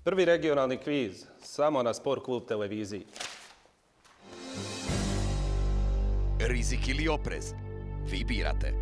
Prvi regionalni kviz, samo na Sport klub televiziji. Rizik ili oprez? Vi birate.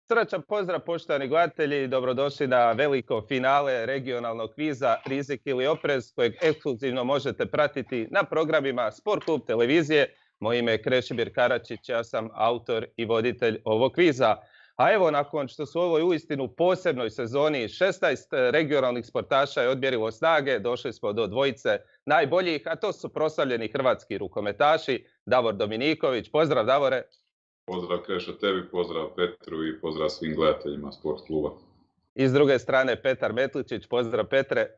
Srdačan pozdrav poštovani gledatelji, dobrodošli na veliko finale regionalnog kviza Rizik ili oprez kojeg ekskluzivno možete pratiti na programima Sport klub televizije. Moje ime je Krešimir Karačić, ja sam autor i voditelj ovog kviza. A evo, nakon što su u ovoj uistinu posebnoj sezoni 16 regionalnih sportaša je odmjerilo snage, došli smo do dvojice najboljih, a to su proslavljeni hrvatski rukometaši. Davor Dominiković, pozdrav Davore. Pozdrav Krešo tebi, pozdrav Petru i pozdrav svim gledateljima Sport kluba. I s druge strane Petar Metličić, pozdrav Petre.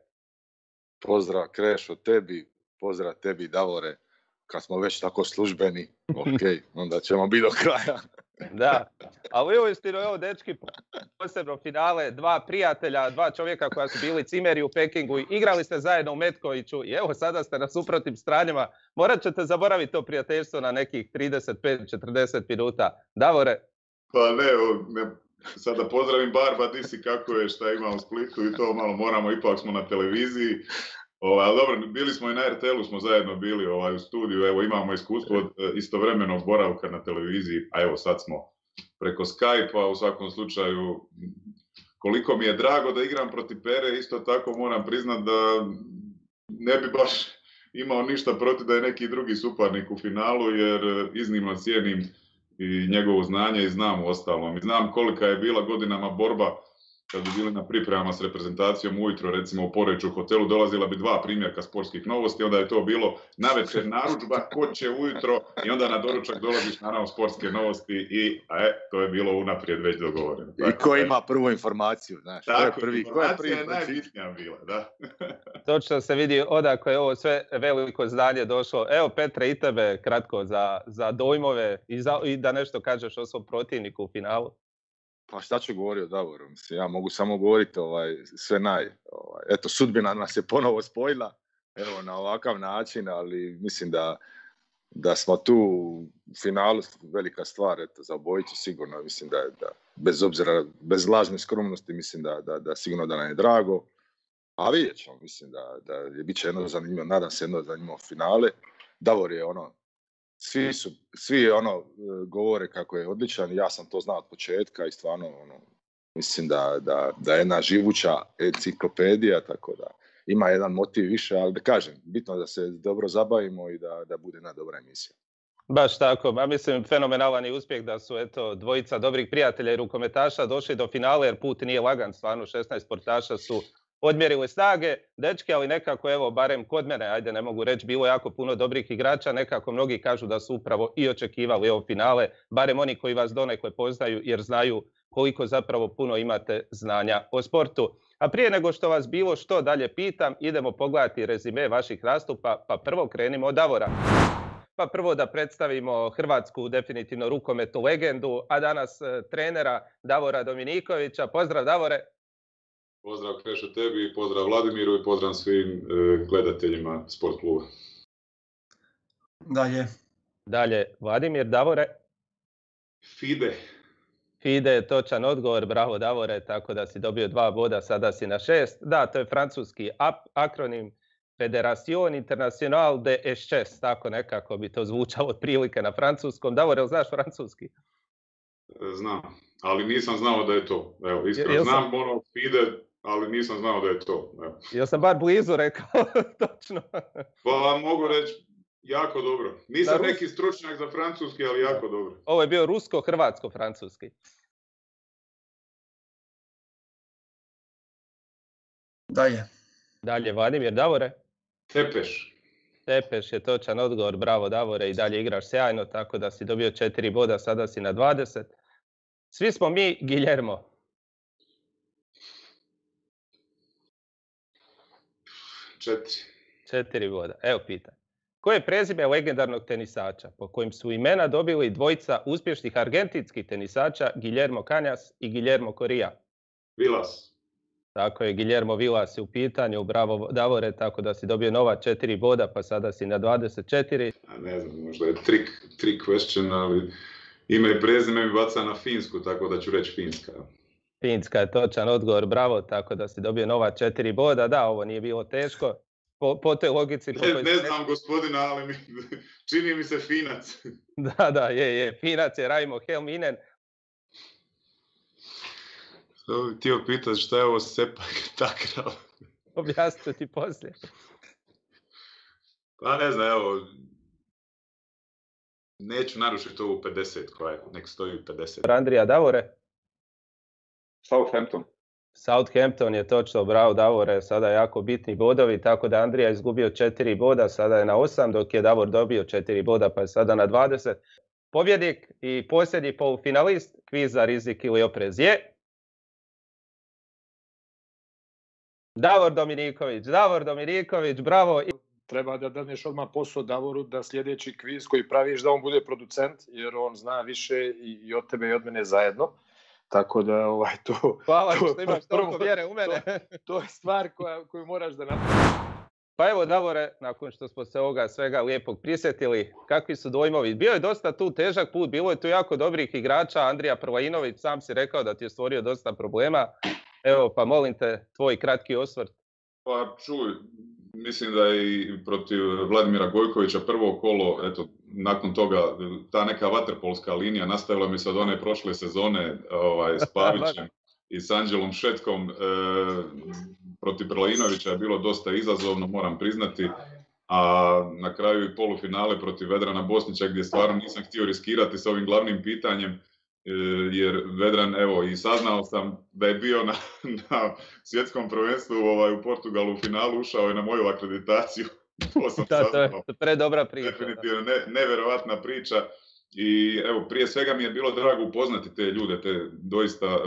Pozdrav Krešo tebi, pozdrav tebi Davore. Kad smo već tako službeni, ok, onda ćemo biti do kraja. Da, ali uistinu evo dečki, posebno finale, dva prijatelja, dva čovjeka koja su bili cimeri u Pekingu, igrali ste zajedno u Metkoviću i evo sada ste na suprotnim stranjama. Morat ćete zaboraviti to prijateljstvo na nekih 35-40 minuta. Davore? Pa ne, sada pozdravim Barba, di si, kako je, šta ima u Splitu i to malo moramo, ipak smo na televiziji. Ali dobro, bili smo i na RTL-u, smo zajedno bili u studiju, evo imamo iskustvo od istovremenog boravka na televiziji, a evo sad smo preko Skype-a, u svakom slučaju koliko mi je drago da igram protiv Pere, isto tako moram priznat da ne bi baš imao ništa protiv da je neki drugi suparnik u finalu, jer iznimno cijenim i njegovo znanje i znam u ostalom. I znam kolika je bila godinama borba kad bi bili na pripremama s reprezentacijom ujutro, recimo u Poreču hotelu, dolazila bi 2 primjerka sportskih novosti, onda je to bilo navečer narudžba, ko će ujutro, i onda na doručak dolaziš naravno sportske novosti i to je bilo unaprijed već dogovoreno. I ko ima prvu informaciju, znaš, tako, informacija je najbitnija bila, da. Točno se vidi odakle je ovo sve veliko znanje došlo. Evo Petre, i tebe kratko za dojmove i da nešto kažeš o svom protivniku u finalu. Pa šta ću govoriti o Davoru? Mislim, ja mogu samo govoriti sve eto, sudbina nas je ponovo spojila, evo, na ovakav način, ali mislim da smo tu u finalu, velika stvar, eto, za obojicu sigurno, mislim da bez obzira, bez lažne skromnosti, mislim da sigurno da nam je drago, a vidjet ćemo, mislim da je bit će jedno zanimljivo, nadam se jedno zanimljivo finale. Davor je svi govore kako je odličan, ja sam to znao od početka i stvarno mislim da je jedna živuća enciklopedija, tako da ima jedan motiv više, ali da kažem, bitno je da se dobro zabavimo i da bude jedna dobra emisija. Baš tako, a mislim fenomenalan je uspjeh da su dvojica dobrih prijatelja i rukometaša došli do finala, jer put nije lagan, stvarno 16 sportaša su odmjerili snage, dečki, ali nekako, evo, barem kod mene, ajde, ne mogu reći, bilo jako puno dobrih igrača, nekako mnogi kažu da su upravo i očekivali ovo finale, barem oni koji vas donekle poznaju, jer znaju koliko zapravo puno imate znanja o sportu. A prije nego što vas bilo što dalje pitam, idemo pogledati rezime vaših nastupa, pa prvo krenimo od Davora. Pa prvo da predstavimo hrvatsku definitivno rukometnu legendu, a danas trenera Davora Dominikovića. Pozdrav Davore! Pozdrav Krešo tebi, pozdrav Vladimiru i pozdrav svim gledateljima Sport kluba. Dalje, Vladimir, Davore? Fide je točan odgovor, bravo Davore, tako da si dobio 2 boda, sada si na 6. Da, to je francuski akronim Fédération Internationale de Eschess, tako nekako bi to zvučalo otprilike na francuskom. Davore, jel znaš francuski? Znam, ali nisam znao da je to. Evo, iskreno znam Fide, ali nisam znao da je to. Evo. Jel sam bar blizu rekao, točno. Pa mogu reći, jako dobro. Nisam neki stručnjak za francuski, ali jako dobro. Ovo je bio rusko-hrvatsko-francuski. Dalje, Vladimir, Davore? Tepeš je točan odgovor, bravo Davore, i dalje igraš sjajno, tako da si dobio 4 boda, sada si na 20. Svi smo mi Guillermo. 4 boda. Evo pitanje. Koje je prezime legendarnog tenisača po kojim su imena dobili dvojica uspješnih argentinskih tenisača Guillermo Cañas i Guillermo Coria? Vilas. Tako je, Guillermo Vilas je u pitanju, bravo Davore, tako da si dobio nova 4 boda, pa sada si na 24. Ne znam, možda je trick question, ali ime i prezime mi baca na finsku, tako da ću reći Finska. Finska je točan odgovor, bravo, tako da si dobio nova 4 boda. Da, ovo nije bilo teško. Po toj logici... Ne znam gospodina, ali čini mi se Finac. Da, je. Finac je Raimo Helminen. Htio pitati šta je ovo Sepak Takrav? Objasnit ću ti poslije. Pa ne znam, evo... Neću narušiti ovu 50 koja je, nek stoji 50. Andrija, Davore? Southampton je točno, bravo Davore, sada jako bitni bodovi, tako da Andrija je izgubio 4 boda, sada je na 8, dok je Davor dobio 4 boda, pa je sada na 20. Pobjednik i posljednji polufinalist kviza Rizik ili oprez je... Davor Dominiković, bravo! Treba da daneš odmah posao Davoru da sljedeći kviz koji praviš da on bude producent, jer on zna više i od tebe i od mene zajedno. Tako da to... Hvala što imaš toliko vjere u mene. To je stvar koju moraš da napraviš. Pa evo Davore, nakon što smo se ovoga svega lijepog prisjetili, kakvi su dojmovi? Bio je dosta tu težak put, bilo je tu jako dobrih igrača, Andrija Prlajinović, sam si rekao da ti je stvorio dosta problema. Evo, pa molim te, tvoj kratki osvrt. Pa čuj, mislim da je i protiv Vladimira Gojkovića prvo kolo, eto, nakon toga ta neka vaterpolska linija nastavila mi se od one prošle sezone s Pavićem i s Anđelom Šetkom. Protiv Prlajinovića je bilo dosta izazovno, moram priznati, a na kraju i polufinale protiv Vedrana Bosnića gdje stvarno nisam htio riskirati s ovim glavnim pitanjem, jer Vedran, evo, i saznao sam da je bio na svjetskom prvenstvu u Portugalu u finalu, ušao je na moju akreditaciju. To sam saznao. To je predobra priča. Definitivno nevjerovatna priča. I evo, prije svega mi je bilo drago upoznati te ljude, te doista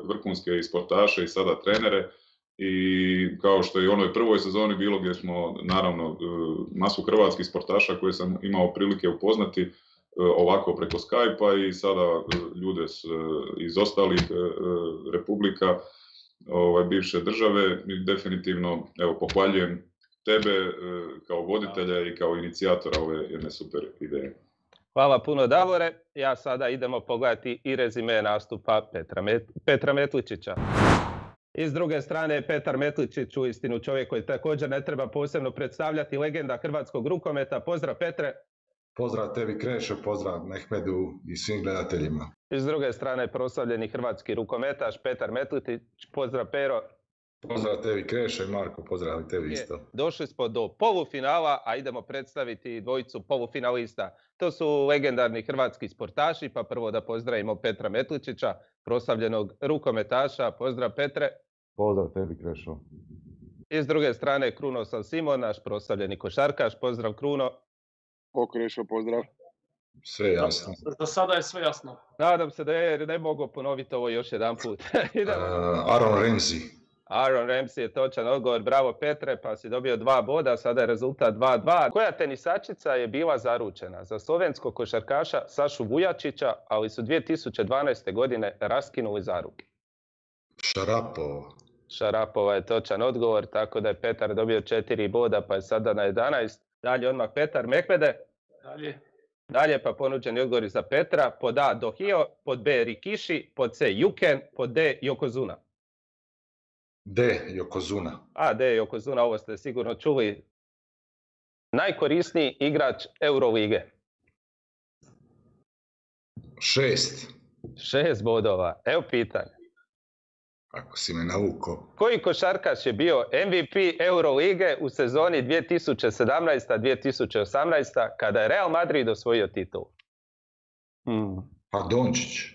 vrhunske i sportaše i sada trenere. I kao što je u onoj prvoj sezoni bilo gdje smo naravno masu hrvatskih sportaša koje sam imao prilike upoznati ovako preko Skype-a i sada ljude iz ostalih republika bivše države. Definitivno evo, pohvaljujem tebe kao voditelja i kao inicijatora ove jedne super ideje. Hvala puno Davore. Ja sada idemo pogledati i rezime nastupa Petra Metličića. I s druge strane Petar Metličić, uistinu čovjek koji također ne treba posebno predstavljati, legenda hrvatskog rukometa. Pozdrav Petre. Pozdrav tebi Krešo, pozdrav Mehmedu i svim gledateljima. I s druge strane proslavljeni hrvatski rukometaš Petar Metličić. Pozdrav Pero. Pozdrav tebi Krešo i Marko, pozdrav i tebi isto. Došli smo do polufinala, a idemo predstaviti dvojicu polufinalista. To su legendarni hrvatski sportaši, pa prvo da pozdravimo Petra Metličića, proslavljenog rukometaša. Pozdrav Petre. Pozdrav tebi Krešo. I s druge strane Krunoslav Simon, naš proslavljeni košarkaš. Pozdrav Kruno. Krešo, pozdrav. Sve jasno. Do sada je sve jasno. Nadam se da je, ne mogu ponoviti ovo još jedan put. Aaron Ramsey. Aaron Ramsey je točan odgovor, bravo Petre, pa si dobio 2 boda, sada je rezultat 2-2. Koja tenisačica je bila zaručena za slovenskog košarkaša Sašu Vujačića, ali su 2012. godine raskinuli zaruke? Šarapova je točan odgovor, tako da je Petar dobio 4 boda, pa je sada na 11. Dalje odmah Petar, Mehmede. Dalje pa ponuđeni odgovori za Petra. Pod A Dohio, pod B Rikishi, pod C Juken, pod D Yokozuna. D. Yokozuna. D. Yokozuna, ovo ste sigurno čuli. Najkorisniji igrač Eurolige. 6 bodova. Evo pitanje. Ako si me naukao. Koji košarkaš je bio MVP Eurolige u sezoni 2017-2018 kada je Real Madrid osvojio titul? Pa Dončić.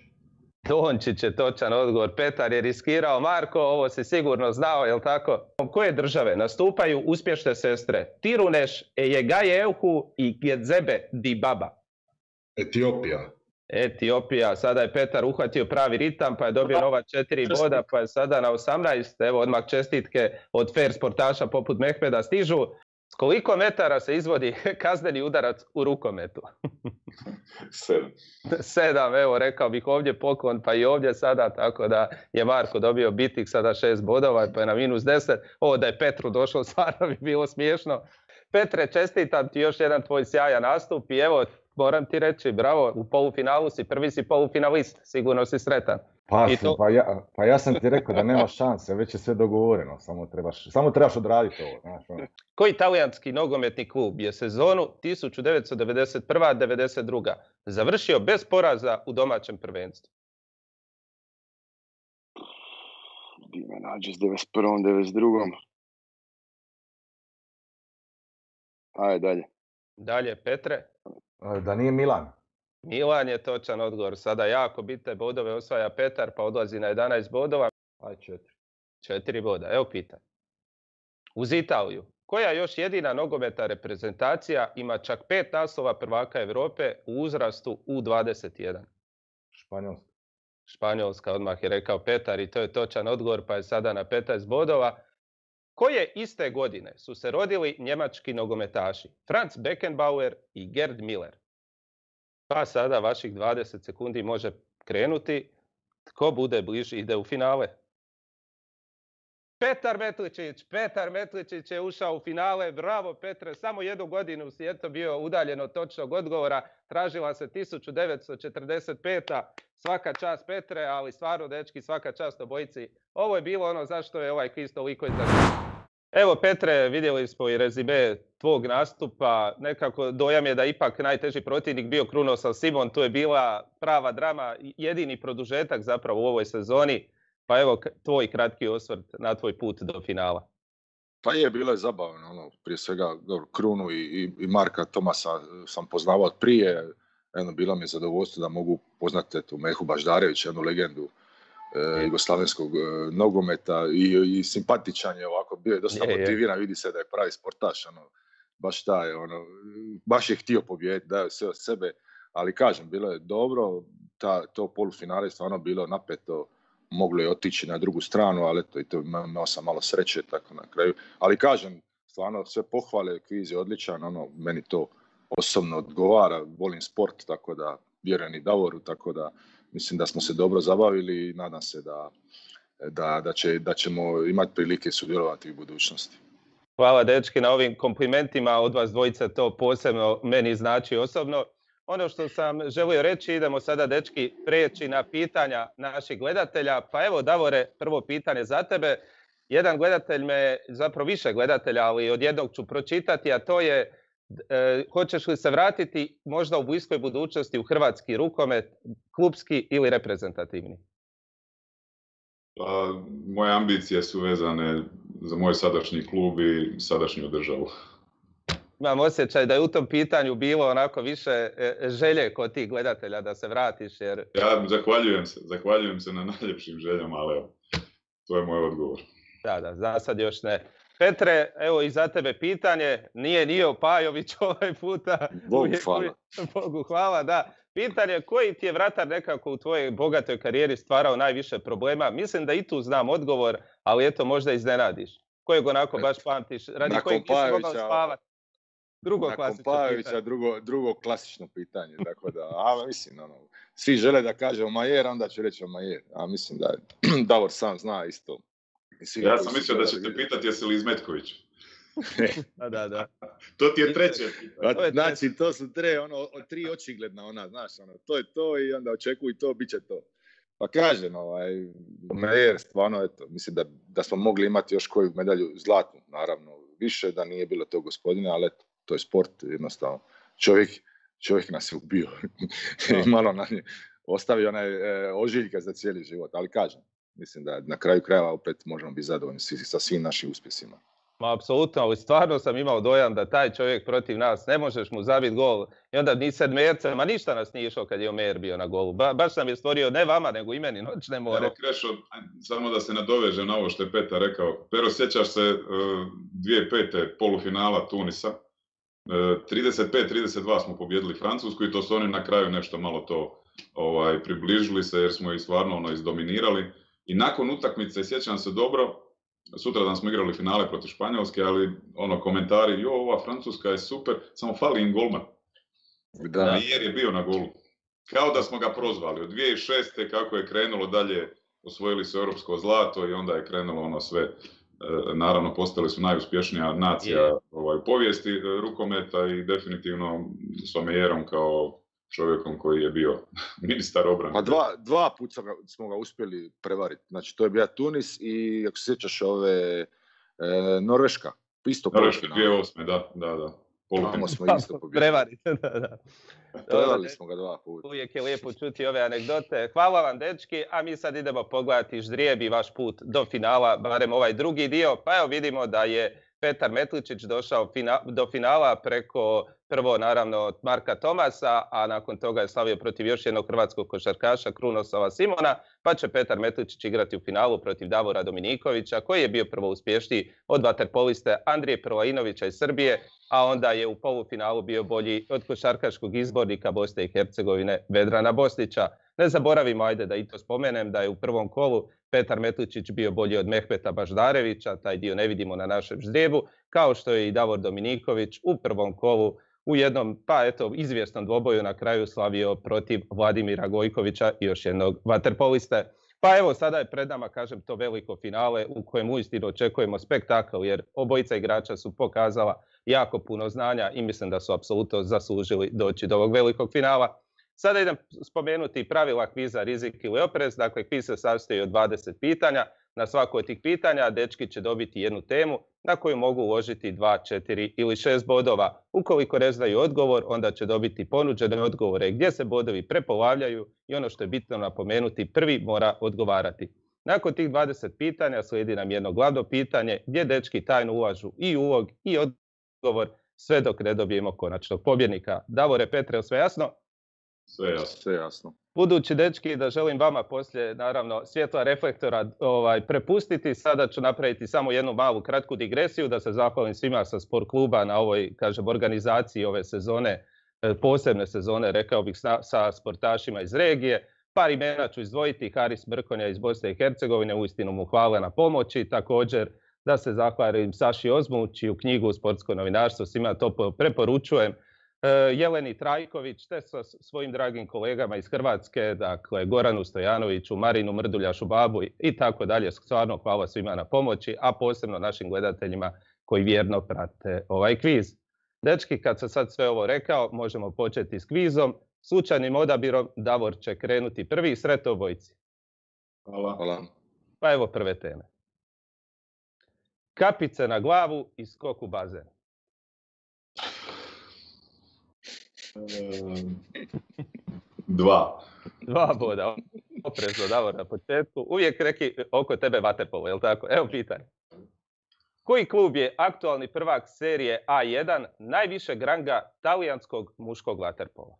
Dončić je točan odgovor. Petar je riskirao. Marko, ovo si sigurno znao, jel tako? Koje države nastupaju uspješne sestre Tiruneš, Ejegajehu i Gedzebe Dibaba? Etiopija. Sada je Petar uhvatio pravi ritam, pa je dobio nova 4 boda, pa je sada na 18. Evo odmah čestitke od fair sportaša poput Mehmeda stižu. S koliko metara se izvodi kazneni udarac u rukometu? 7, evo rekao bih ovdje poklon, pa i ovdje sada, tako da je Marko dobio bitik sada 6 bodova, pa je na -10. Ovo da je Petru došlo stvarno bi bilo smiješno. Petre, čestitam ti još jedan tvoj sjajan nastup i evo moram ti reći, bravo, u polufinalu si, prvi si polufinalist, sigurno si sretan. Pa ja sam ti rekao da nema šanse, već je sve dogovoreno, samo trebaš odraditi ovo. Znaš, ono. Koji talijanski nogometni klub je sezonu 1991-92 završio bez poraza u domaćem prvenstvu? Di me nađe s 91. 92. Ajde, dalje. Dalje, Petre. Da nije Milan. Milan je točan odgovor. Sada jako bitne bodove osvaja Petar, pa odlazi na 11 bodova. Aj 4. 4 boda. Evo pitanje. Uz Italiju, koja još jedina nogometna reprezentacija ima čak 5 naslova prvaka Europe u uzrastu U21? Španjolska. Španjolska, odmah je rekao Petar i to je točan odgovor, pa je sada na 15 bodova. Koje iste godine su se rodili njemački nogometaši Franz Beckenbauer i Gerd Müller? Pa sada vaših 20 sekundi može krenuti. Tko bude bliži ide u finale. Petar Metličić je ušao u finale. Bravo Petre, samo 1 godinu si eto bio udaljen od točnog odgovora. Tražila se 1945. Svaka čast Petre, ali stvarno dečki, svaka čast obojici. Ovo je bilo ono zašto je ovaj kviz toliko zanimljiv. Evo Petre, vidjeli smo i rezime tvog nastupa. Nekako dojam je da ipak najteži protivnik bio Krunoslav Simon. Tu je bila prava drama, jedini produžetak zapravo u ovoj sezoni. Pa evo tvoj kratki osvrt na tvoj put do finala. Pa bilo je zabavno. Prije svega Krunu i Marka Tomasa sam poznavao od prije. Bilo mi je zadovoljstvo da mogu poznati Mehu Baždarevića, jednu legendu jugoslavenskog nogometa i simpatičan je ovako, bio je dosta motiviran, vidi se da je pravi sportaš, baš je htio pobijediti, dao sve od sebe, ali kažem, bilo je dobro, to polufinale je stvarno bilo napeto, moglo je otići na drugu stranu, ali eto, i to imao sam malo sreće tako na kraju, ali kažem, stvarno sve pohvale, kviz je odličan, meni to osobno odgovara, volim sport, tako da vjerujem i Davoru, tako da mislim da smo se dobro zabavili i nadam se da ćemo imati prilike sudjelovati u budućnosti. Hvala dečki na ovim komplimentima, od vas dvojica to posebno meni znači osobno. Ono što sam želio reći, idemo sada dečki prijeći na pitanja naših gledatelja. Pa evo Davore, prvo pitanje za tebe. Jedan gledatelj zapravo više gledatelja, ali od jednog ću pročitati, a to je hoćeš li se vratiti možda u bliskoj budućnosti u hrvatski rukomet, klupski ili reprezentativni? Pa, moje ambicije su vezane za moj sadašnji klub i sadašnju državu. Imam osjećaj da je u tom pitanju bilo onako više želje kod tih gledatelja da se vratiš. Jer... Ja zahvaljujem se na najljepšim željama, ali evo, to je moj odgovor. Da, za sad još ne. Petre, evo i za tebe pitanje, nije Nio Pajović ovaj puta. Bogu hvala, da. Pitanje, koji ti je vratar nekako u tvojoj bogatoj karijeri stvarao najviše problema? Mislim da i tu znam odgovor, ali eto možda iznenadiš. Kojeg onako baš pamtiš, radi kojeg nisi mogao spavati? Nakon Pajovića drugo klasično pitanje, tako da, mislim, svi žele da kaže Omajer, onda ću reći Omajer, a mislim da Davor sam zna isto. Ja sam mislio da ćete pitati jesi li Izmetković. Da. To ti je treće. Znači, to su tri očigledna, znaš, to je to i onda očekuj to, bit će to. Pa kažem, Mejer, stvarno, eto, mislim da smo mogli imati još koju medalju zlatnu, naravno, više da nije bilo to gospodine, ali eto, to je sport, jednostavno. Čovjek nas je ubio. I malo ostavio onaj ožiljka za cijeli život, ali kažem, mislim da na kraju krajeva opet možemo biti zadovoljni sa svim našim uspjesima. Ma, apsolutno, ali stvarno sam imao dojam da taj čovjek protiv nas, ne možeš mu zabiti gol i onda ni sedmerce, ma ništa nas nije išlo kad je Omer bio na golu. Baš nam je stvorio, ne vama, nego i meni noćne more. Evo Krešo, samo da se nadoveže na ovo što je Petar rekao. Pero, sjećaš se 2005. polufinala Tunisa? 35-32 smo pobjedili Francusku i to su oni na kraju nešto malo to približili se jer smo ih stvarno izdominirali. I nakon utakmice, sjećam se dobro, sutradan smo igrali finale protiv Španjolske, ali komentari, ova Francuska je super, samo fali im golman. Jer je bio na golu. Kao da smo ga prozvali. Od 2006. kako je krenulo dalje, osvojili su europsko zlato i onda je krenulo sve naravno postali su najuspješnija nacija u povijesti rukometa i definitivno s Omejerom kao čovjekom koji je bio ministar obrane. Pa dva puta smo ga uspjeli prevariti. Znači, to je bio Tunis i, ako se sjećaš, Norveška. Isto Norveška 2008. Da. Tamo smo isto pobjedili. Prevarite, da. Prevarili smo ga 2 puta. Uvijek je lijepo čuti ove anegdote. Hvala vam, dečki, a mi sad idemo pogledati ždrijeb vaš put do finala, barem ovaj drugi dio. Pa evo vidimo da je Petar Metličić došao do finala preko prvo naravno Marka Tomasa, a nakon toga je slavio protiv još jednog hrvatskog košarkaša Krunosova Simona, pa će Petar Metličić igrati u finalu protiv Davora Dominikovića, koji je bio prvo uspješniji od vaterpoliste Andrije Prlajinovića iz Srbije, a onda je u polufinalu bio bolji od košarkaškog izbornika Bosne i Hercegovine Vedrana Bosnića. Ne zaboravimo, ajde da i to spomenem, da je u prvom kolu Petar Metličić bio bolji od Mehmeta Baždarevića, taj dio ne vidimo na našem ždrijebu, kao što je i Davor Dominiković u prvom kolu u jednom, izvjesnom dvoboju na kraju slavio protiv Vladimira Gojkovića i još jednog vaterpoliste. Pa evo, sada je pred nama, kažem, to veliko finale u kojem uistinu očekujemo spektakl, jer obojica igrača su pokazala jako puno znanja i mislim da su apsolutno zaslužili doći do ovog velikog finala. Sada idem spomenuti pravila kviza Rizik ili oprez. Dakle, kviz se sastoji od 20 pitanja. Na svako od tih pitanja dečki će dobiti jednu temu na koju mogu uložiti 2, 4 ili 6 bodova. Ukoliko ne znaju odgovor, onda će dobiti ponuđene odgovore gdje se bodovi prepolavljaju i ono što je bitno napomenuti, prvi mora odgovarati. Nakon tih 20 pitanja slijedi nam jedno glavno pitanje gdje dečki tajno ulažu i ulog i odgovor sve dok ne dobijemo konačnog pobjednika. Davore, Petre, sve jasno? Sve jasno. Budući, dečki, da želim vama poslije, naravno, svjetla reflektora prepustiti, sada ću napraviti samo jednu malu kratku digresiju, da se zahvalim svima sa sport kluba na ovoj, kažem, organizaciji ove sezone, posebne sezone, rekao bih, sa sportašima iz regije. Par imena ću izdvojiti, Haris Mrkonja iz Bosne i Hercegovine, uistinu mu hvala na pomoći, također da se zahvalim Saši Ozmu, čiju knjigu Sportsko novinarstvo svima to preporučujem, Jeleni Trajković, te sa svojim dragim kolegama iz Hrvatske, dakle Goranu Stojanoviću, Marinu Mrduljašu Babu i tako dalje. Stvarno hvala svima na pomoći, a posebno našim gledateljima koji vjerno prate ovaj kviz. Dečki, kad sam sad sve ovo rekao, možemo početi s kvizom. Slučajnim odabirom Davor će krenuti prvi. Sretno obojici. Hvala. Pa evo prve teme. Kapice na glavu i skok u bazen. Dva boda. Oprezno, Davor, na početku. Uvijek reki oko tebe vaterpolo, jel tako? Evo pitanje. Koji klub je aktualni prvak serije A1 najvišeg ranga talijanskog muškog vaterpola?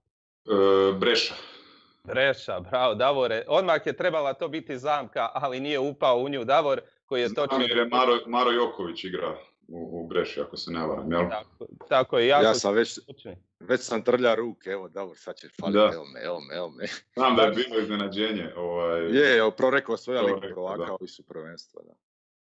Breša, bravo, Davore. Odmah je trebala to biti zamka, ali nije upao u nju Davor, koji je točno... Znam jer je Maro Joković igra u Breši, ako se ne varam, jel? Tako je. Ja sam već sam trlja ruke, evo Davor, sad će faliti, evo me. Znam da je bilo iznenađenje. Prorekao svoja liga prvaka, ovi su prvenstva, da.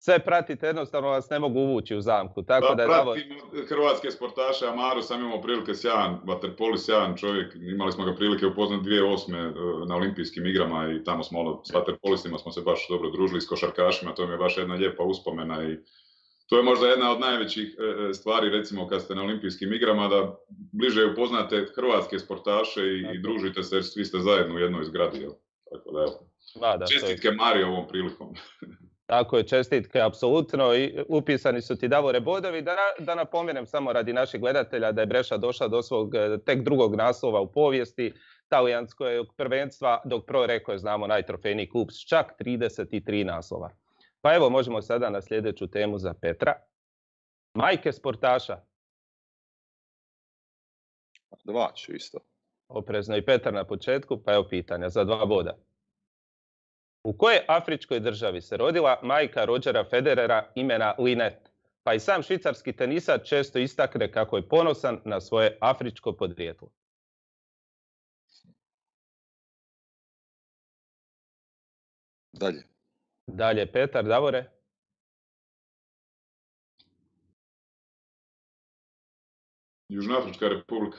Sve pratite, jednostavno vas ne mogu uvući u zamku. Tako da pratim hrvatske sportaše, a Maru sam imao prilike sjajan, vaterpolist, sjajan čovjek. Imali smo ga prilike upoznati 2008. na olimpijskim igrama i tamo smo s vaterpolistima smo se baš dobro družili, s košarkašima, to mi je baš jedna lijepa uspomena i to je možda jedna od najvećih stvari, recimo kad ste na olimpijskim igrama, da bliže upoznate hrvatske sportaše i družite se jer svi ste zajedno u jednoj zgradi. Tako da evo. Čestitke Mari ovom prilikom. Tako je, čestitke, apsolutno. I upisani su ti, Davore, bodovi. Da napomenem samo radi naših gledatelja da je Breša došla do svog tek drugog naslova u povijesti talijanskog prvenstva, dok Pro Reko je, znamo, najtrofejniji klub s čak 33 naslova. Pa evo, možemo sada na sljedeću temu za Petra. Majke sportaša. 2 ću isto. Oprezno i Petar na početku, pa evo pitanja za 2 boda. U kojoj afričkoj državi se rodila majka Rodgera Federera imena Lynette? Pa i sam švicarski tenisač često istakne kako je ponosan na svoje afričko podrijetlo. Dalje, Petar, Davore? Južnoafrička republika.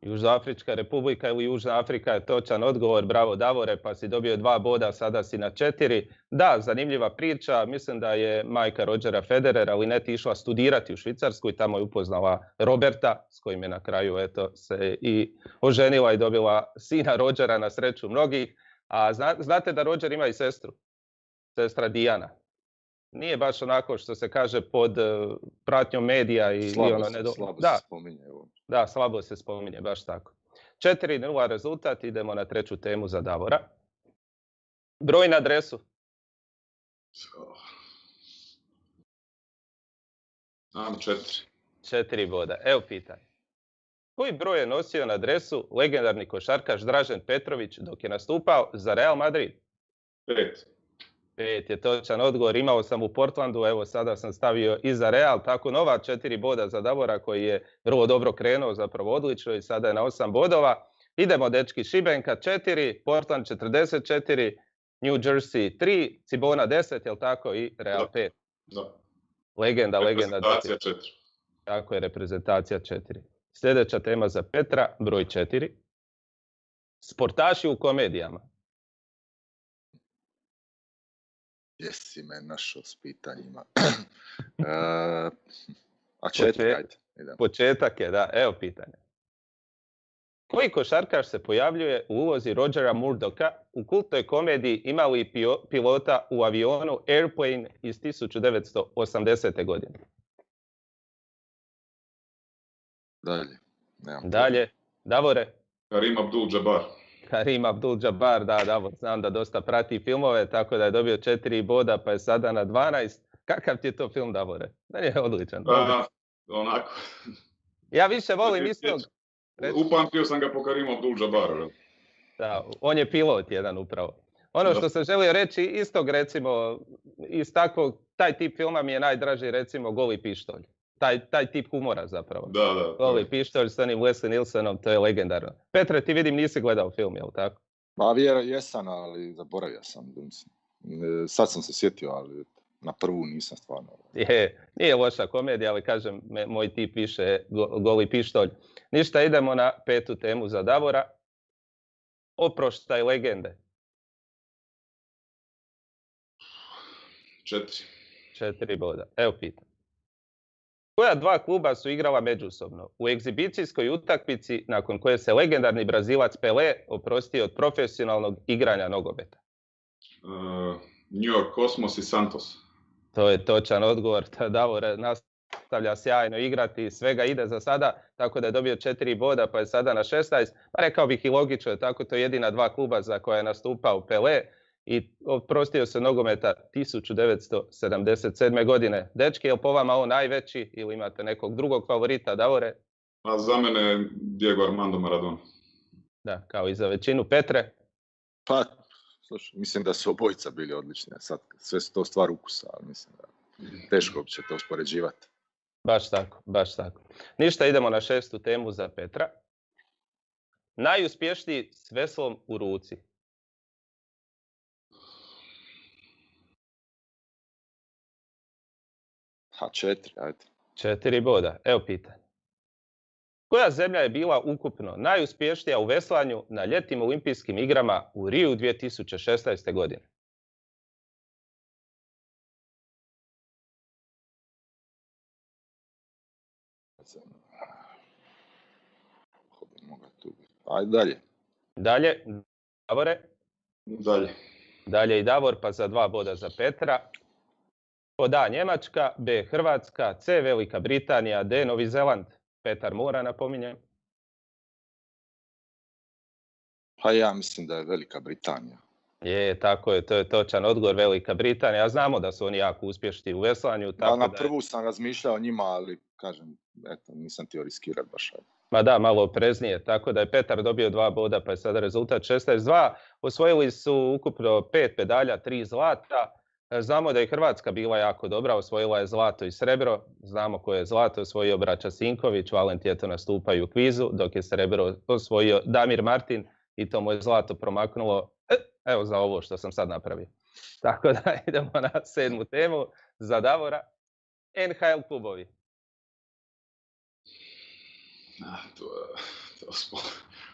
Južnoafrička republika ili Južna Afrika je točan odgovor, bravo Davore, pa si dobio 2 boda, sada si na 4. Da, zanimljiva priča, mislim da je majka Rodgera Federera Linette išla studirati u Švicarsku i tamo je upoznala Roberta, s kojim je na kraju se i oženila i dobila sina Rodgera, na sreću mnogih. A znate da Rodger ima i sestru, sestra Diana. Nije baš onako što se kaže pod pratnjom medija i slabo se spominje. Da, slabo se spominje, baš tako. 4-0 rezultat, idemo na 3. temu za Davora. Broj na adresu. Znam 4. 4 boda. Evo pitanje. Koji broj je nosio na adresu legendarni košarkaš Dražen Petrović dok je nastupao za Real Madrid? 5. 5 je točan odgovor, imao sam u Portlandu, evo sada sam stavio i za Real, tako nova 4 boda za Davora koji je vrlo dobro krenuo, zapravo odlično i sada je na 8 bodova. Idemo dečki, Šibenka 4, Portland 44, New Jersey 3, Cibona 10, jel tako, i Real 5. Da. Legenda. Reprezentacija 4. Tako je, reprezentacija 4. Sljedeća tema za Petra, broj 4. Sportaši u komedijama. Jesi me našao s pitanjima. A 4, ajde. Početak je, da. Evo pitanje. Koji košarkaš se pojavljuje u ulozi Rogera Murdocka u kultnoj komediji Ima li pilota u avionu Airplane iz 1980. godine? Dalje. Davore? Karim Abdul-Jabbar. Karim Abdul-Jabbar, da, Davor, znam da dosta prati filmove, tako da je dobio 4 boda, pa je sada na 12. Kakav ti je to film, Davore? Meni je odličan. Onako. Ja više volim istog. Upamtio sam ga po Karimu Abdul-Jabbaru. Da, on je pilot jedan upravo. Ono što sam želio reći, istog recimo, iz takvog, taj tip filma mi je najdraži recimo Goli pištolj. Taj tip humora zapravo. Da. Goli pištolj s onim Leslie Nielsenom, to je legendarno. Petre, ti vidim nisi gledao film, jel tako? Ma jesam, ali zaboravio sam. Sad sam se sjetio, ali na prvu nisam stvarno. Nije loša komedija, ali kažem, moj tip više Goli pištolj. Ništa, idemo na 5. temu za Davora. Oproštaj legende. 4. 4 boda. Evo pitam. Koja 2 kluba su igrala međusobno u egzibicijskoj utakmici nakon koje se legendarni Brazilac Pelé oprostio od profesionalnog igranja nogometa? New York Cosmos i Santos. To je točan odgovor. Davor nastavlja sjajno igrati, svega ide za sada, tako da je dobio 4 boda, pa je sada na 16. Pa rekao bih i logično, tako to je jedina 2 kluba za koje je nastupao Pelé i oprostio se nogometa 1977. godine. Dečki, je li po vama on najveći ili imate nekog drugog favorita, Davore? A za mene je Diego Armando Maradona. Da, kao i za većinu. Petre? Pa, slušaj, mislim da su obojica bili odlični. Sad, sve su to stvar ukusa, ali mislim da teško će to uspoređivati. Baš tako. Ništa, idemo na 6. temu za Petra. Najuspješniji s veslom u ruci. Ha, 4, ajde. 4 boda. Evo pitanje. Koja zemlja je bila ukupno najuspješnija u veslanju na ljetnim olimpijskim igrama u Riju 2016. godine? Ajde dalje. Davore? Dalje i Davor, pa za 2 boda za Petra. Pod A Njemačka, B Hrvatska, C Velika Britanija, D Novi Zeland. Petar mora, napominjem. Pa ja mislim da je Velika Britanija. Tako je, to je točan odgovor, Velika Britanija. Znamo da su oni jako uspješni u veslanju. Tako na prvu sam razmišljao o njima, ali kažem, nisam htio riskirati baš. Ma da, malo opreznije. Tako da je Petar dobio 2 boda, pa je sada rezultat 16-2. Osvojili su ukupno 5 medalja, 3 zlata. Znamo da je Hrvatska bila jako dobra, osvojila je zlato i srebro. Znamo ko je zlato osvojio Braća Sinković, Valent je to nastupaju u kvizu, dok je srebro osvojio Damir Martin i to mu je zlato promaknulo, evo za ovo što sam sad napravio. Tako da idemo na 7. temu za Davora. NHL klubovi. To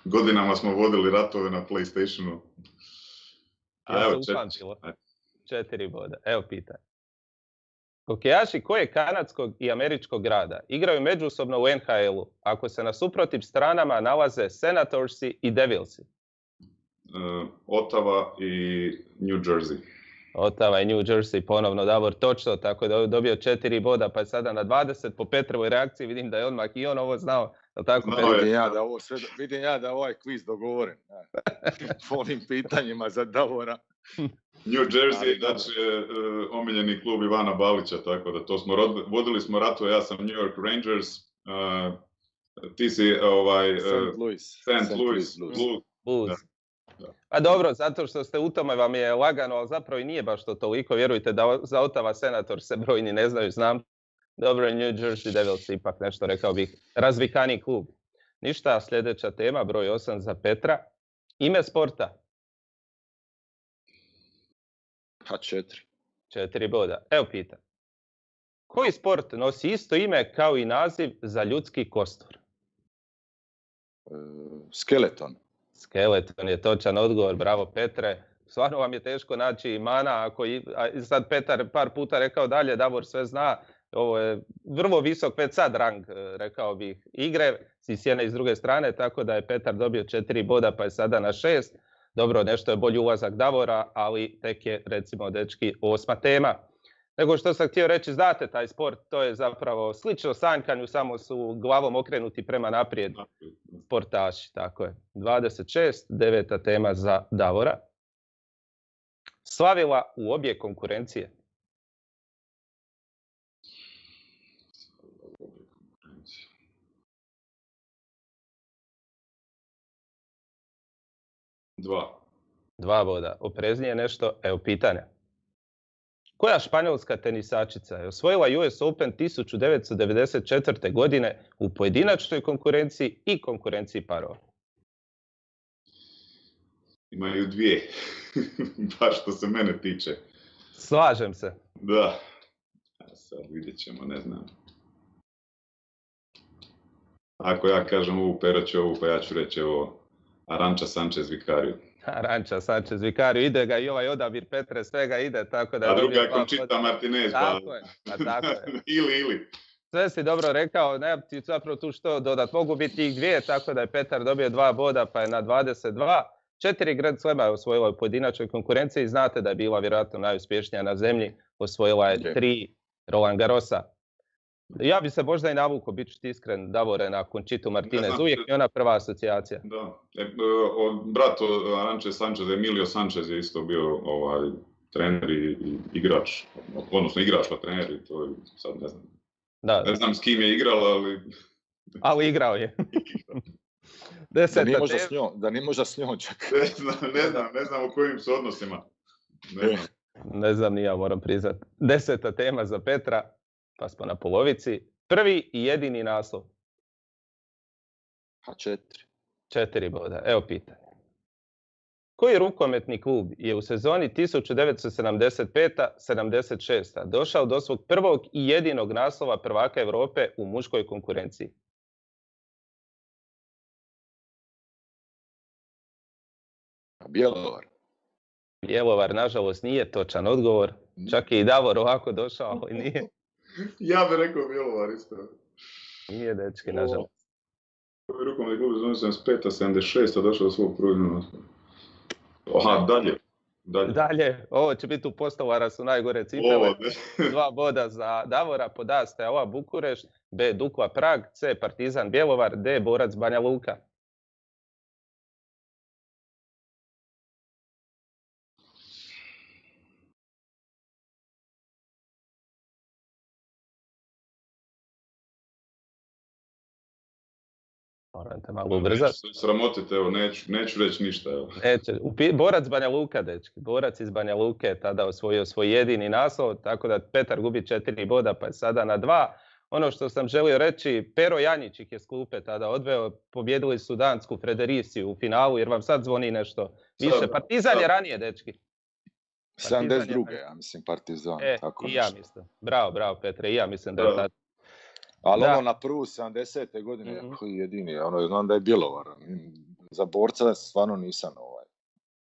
Godinama smo vodili ratove na PlayStationu. Ja se upamtilo. 4 boda. Evo pitanje. Hokejaši koje kanadskog i američkog grada igraju međusobno u NHL-u ako se na suprotnim stranama nalaze Senatorsi i Devilsi? Ottawa i New Jersey. Ottawa i New Jersey, ponovno Davor točno, tako da je dobio 4 boda, pa je sada na 20 po Petrovoj reakciji, vidim da je odmah i on ovo znao. Tako, vidim ja da ovaj kviz dogovoren. Po ovim pitanjima za Davora. New Jersey, znači omiljeni klub Ivana Balića, tako da to smo vodili smo ratove, ja sam New York Rangers, ti si St. Louis Blues. Pa dobro, zato što ste u tome vam je lagano, ali zapravo i nije baš to toliko, vjerujte da za Ottawa Senator se brojni ne znaju, znam. Dobro, New Jersey Devils ipak nešto, rekao bih, razvikani klub. Ništa, sljedeća tema, broj 8 za Petra. Ime sporta? 4. 4 boda. Evo pita. Koji sport nosi isto ime kao i naziv za ljudski kostur? Skeleton. Skeleton je točan odgovor, bravo Petre. Stvarno vam je teško naći imana, sad Petar par puta rekao dalje, Davor sve zna. Ovo je vrlo visok već sad rang, rekao bih, igre s jedne i s druge strane, tako da je Petar dobio 4 boda pa je sada na 6. Dobro, nešto je bolji ulazak Davora, ali tek je, recimo, dečki, 8. tema. Nego što sam htio reći, znate taj sport, to je zapravo slično sanjkanju, samo su glavom okrenuti prema naprijed sportaši, tako je. 26, 9. tema za Davora. Slavila u obje konkurencije. Dva boda. Opreznije nešto. Evo pitanja. Koja španjolska tenisačica je osvojila US Open 1994. godine u pojedinačnoj konkurenciji i konkurenciji parova? Imaju 2. Baš što se mene tiče. Slažem se. Da. Sad vidjet ćemo, ne znam. Ako ja kažem ovu, Pero će ovu, pa ja ću reći ovo Arantxa Sanchez Vicario. Arantxa Sanchez Vicario, ide ga i ovaj odabir Petre, svega ide, tako da... A druga je Conchita Martinez, tako je. ili. Sve si dobro rekao, ne ti zapravo tu što dodat. Mogu biti ih 2, tako da je Petar dobio 2 boda, pa je na 22. 4 Grand Slema je osvojila u pojedinačnoj konkurenciji. Znate da je bila vjerojatno najuspješnija na zemlji. Osvojila je 3 Roland Garrosa. Ja bi se možda i navukao, bit ću ti iskren, Davore, na Conchitu Martinez. Uvijek je ona prva asocijacija. Da. Brat Arantxe Sanchez, Emilio Sanchez je isto bio trener i igrač. Odnosno igrač pa trener i to je, sad ne znam. Da. Ne znam s kim je igrala, ali... Ali igrao je. Da nije možda s njom čak. Ne znam u kojim su odnosima. Ne znam ni ja, moram priznat. 10. tema za Petra, pa smo na polovici. Prvi i jedini naslov. 4. 4 boda. Evo pitanje. Koji rukometni klub je u sezoni 1975-76 došao do svog prvog i jedinog naslova prvaka Europe u muškoj konkurenciji? Bjelovar. Bjelovar, nažalost, nije točan odgovor. Čak je i Davor ovako došao, ali nije. Ja bih rekao Bjelovar isto. Nije, dečki, nažalost. Koji rukometni klub u sezoni 75-76 došao do svog prvog naslova? Aha, dalje. Ovo će biti u Postolara su najgore cipele. 2 boda za Davora, pod A Steaua Bukurešt, B Dukla Prag, C Partizan Bjelovar, D Borac Banja Luka. Morate malo ubrzati. Sramotite, evo, neću reći ništa. Evo. Borac Banja Luka, dečki. Borac iz Banja Luke je tada osvojio svoj jedini naslov, tako da Petar gubi 4 boda, pa je sada na 2. Ono što sam želio reći, Pero Janjić ih je s klupe tada odveo, pobjedili su dansku Fredericiju u finalu, jer vam sad zvoni nešto više. Partizan je ranije, dečki. 72. Ja mislim Partizan. Tako i ja mislim. Bravo, Petre, i ja mislim da je tad. Ali Da. ono na prvu 70. godine, jedini, ono, znam da je Bjelovar. Za borca stvarno nisam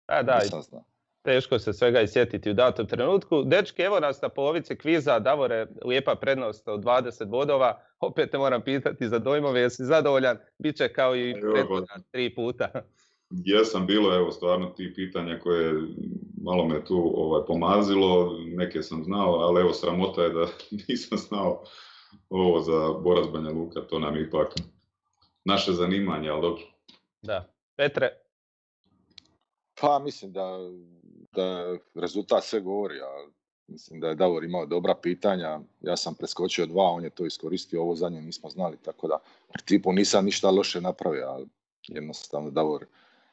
Da, nisam znao. teško se svega i sjetiti u datom trenutku. Dečki, evo nas na polovici kviza. Davore, lijepa prednost od 20 bodova. Opet te moram pitati za dojmove, jesi zadovoljan? Biće kao i prethodna 3 puta. Jesam, bilo evo stvarno ti pitanja koje malo me tu pomazilo, neke sam znao, ali evo sramota je da nisam znao ovo za Borac Banja Luka, to nam je ipak naše zanimanje, ali dobro. Da. Petre? Pa mislim da rezultat sve govori, a mislim da je Davor imao dobra pitanja, ja sam preskočio 2, on je to iskoristio, ovo zadnje nismo znali, tako da u principu nisam ništa loše napravio, ali jednostavno Davor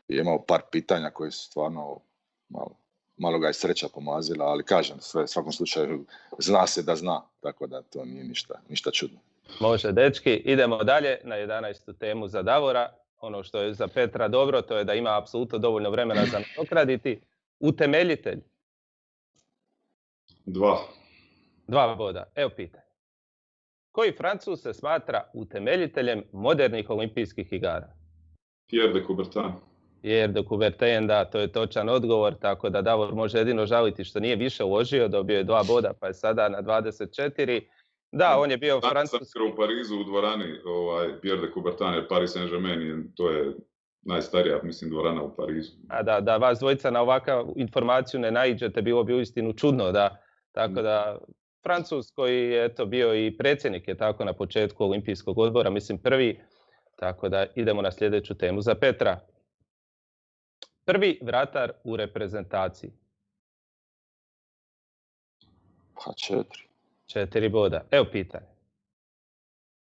je imao par pitanja koje su stvarno malo ga je sreća pomazila, ali kažem, sve u svakom slučaju zna se da zna, tako da to nije ništa čudno. Može, dečki, idemo dalje na 11. temu za Davora. Ono što je za Petra dobro, to je da ima apsolutno dovoljno vremena za nadoknaditi. Utemeljitelj. 2 boda. Evo pitanje. Koji Francuz se smatra utemeljiteljem modernih olimpijskih igara? Pierre de Coubertin. Pierre de Coubertin, da, to je točan odgovor, tako da Davor može jedino žaliti što nije više uložio, dobio je 2 boda, pa je sada na 24. Da, on je bio francuski. U Parizu u dvorani Pierre de Coubertin, jer Paris Saint-Germain, to je najstarija, mislim, dvorana u Parizu. A da vas dvojica na ovakvu informaciju ne naiđete, bilo bi uistinu čudno, da. Tako da, Francuz koji je bio i predsjednik je tako na početku olimpijskog odbora, mislim prvi, tako da idemo na sljedeću temu za Petra. Prvi vratar u reprezentaciji. Pa 4. 4 boda. Evo pitanje.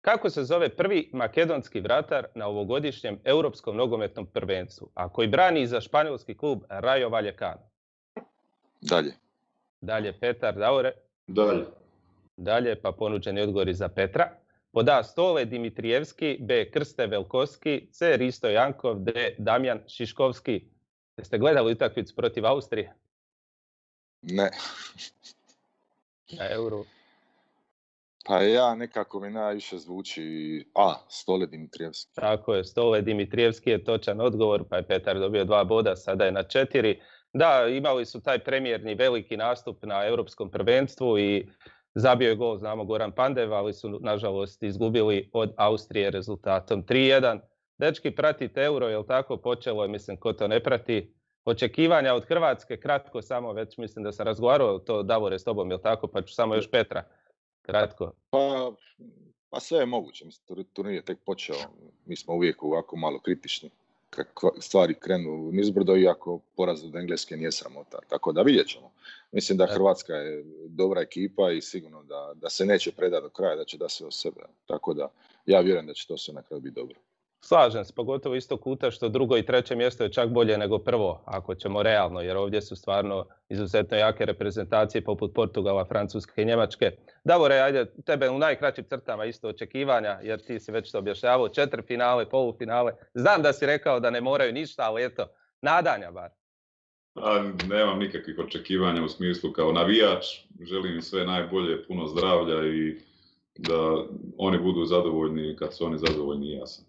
Kako se zove prvi makedonski vratar na ovogodišnjem europskom nogometnom prvenstvu, a koji brani za španjolski klub Rayo Vallecano? Dalje Petar, Davore? Dalje, pa ponuđeni odgovori za Petra. Pod A. Stole Dimitrijevski, B. Krste Velkovski, C. Risto Jankov, D. Damjan Šiškovski. Jeste gledali utakmicu protiv Austrije? Ne. Na Euro. Pa ja nekako mi najviše zvuči A. Stole Dimitrijevski. Tako je, Stole Dimitrijevski je točan odgovor, pa je Petar dobio 2 boda, sada je na 4. Da, imali su taj premijerni veliki nastup na europskom prvenstvu i zabio je gol, znamo, Goran Pandev, ali su nažalost izgubili od Austrije rezultatom 3-1. Dečki, pratite Euro, jel tako? Počelo je, mislim, ko to ne prati. Očekivanja od Hrvatske, kratko samo, već mislim da sam razgovarao to, Davore, s tobom, jel tako? Pa ću samo još Petra, kratko. Pa sve je moguće, mislim, turnir je tek počeo, mi smo uvijek ovako malo kritični kad stvari krenu nizbrdo, iako poraz od Engleske nije sramota, tako da vidjet ćemo. Mislim da Hrvatska je dobra ekipa i sigurno da se neće predati do kraja, da će da sve od sebe, tako da ja vjerujem da će to sve na kraju biti dobro. Slažem se, pogotovo isto kuta što 2. i 3. mjesto je čak bolje nego prvo, ako ćemo realno, jer ovdje su stvarno izuzetno jake reprezentacije poput Portugala, Francuske i Njemačke. Davore, ajde, tebe u najkraćim crtama isto očekivanja, jer ti si već to objašnjavao, 4 finale, polufinale. Znam da si rekao da ne moraju ništa, ali eto, nadanja bar. Nemam nikakvih očekivanja u smislu kao navijač, želim im sve najbolje, puno zdravlja i da oni budu zadovoljni kad su oni zadovoljni i ja sam.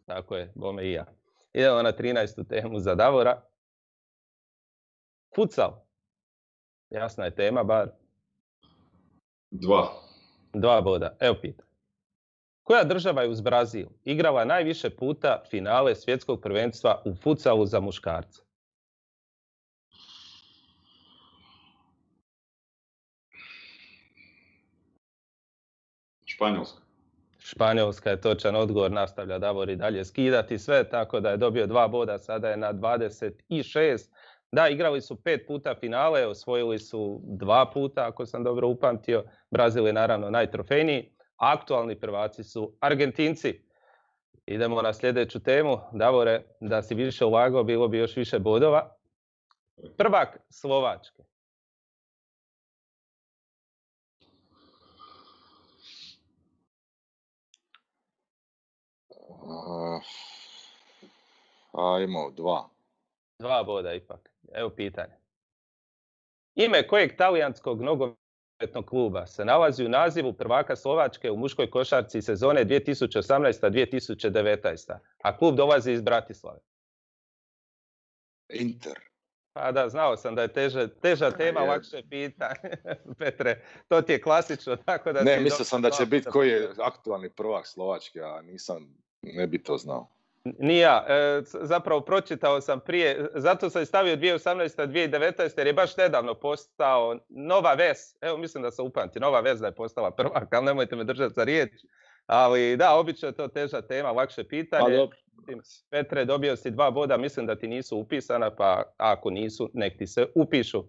Tako je, bome i ja. Idemo na 13. temu za Davora. Futsal. Jasna je tema, bar. 2 boda. Evo pitanje. Koja država je uz Brazil igrala najviše puta finale svjetskog prvenstva u futsalu za muškarce? Španjolska je točan odgovor, nastavlja Davor i dalje skidati sve, tako da je dobio 2 boda, sada je na 26. Da, igrali su 5 puta finale, osvojili su 2 puta, ako sam dobro upamtio. Brazil je naravno najtrofejniji. Aktualni prvaci su Argentinci. Idemo na sljedeću temu. Davore, da si više ulagao, bilo bi još više bodova. Prvak Slovačke. Imao 2. 2 boda ipak. Evo pitanje. Ime kojeg talijanskog nogometnog nogometnog kluba se nalazi u nazivu prvaka Slovačke u muškoj košarci sezone 2018-2019, a klub dolazi iz Bratislave? Inter. Pa da, znao sam da je teža tema, lakše pitanje. Petre, to ti je klasično, tako da... Ne, mislio sam da će biti koji je aktualni prvak Slovačke, a ne bi to znao. Nije ja, zapravo pročitao sam prije, zato sam stavio 2018-2019 jer je baš nedavno postao Nova Ves, evo mislim da sam upamtio, Nova Ves da je postala prvak, ali nemojte me držati za riječ. Ali da, obično je to teža tema, lakše pitanje. Petre, dobio si 2 boda, mislim da ti nisu upisana, pa ako nisu, nek ti se upišu.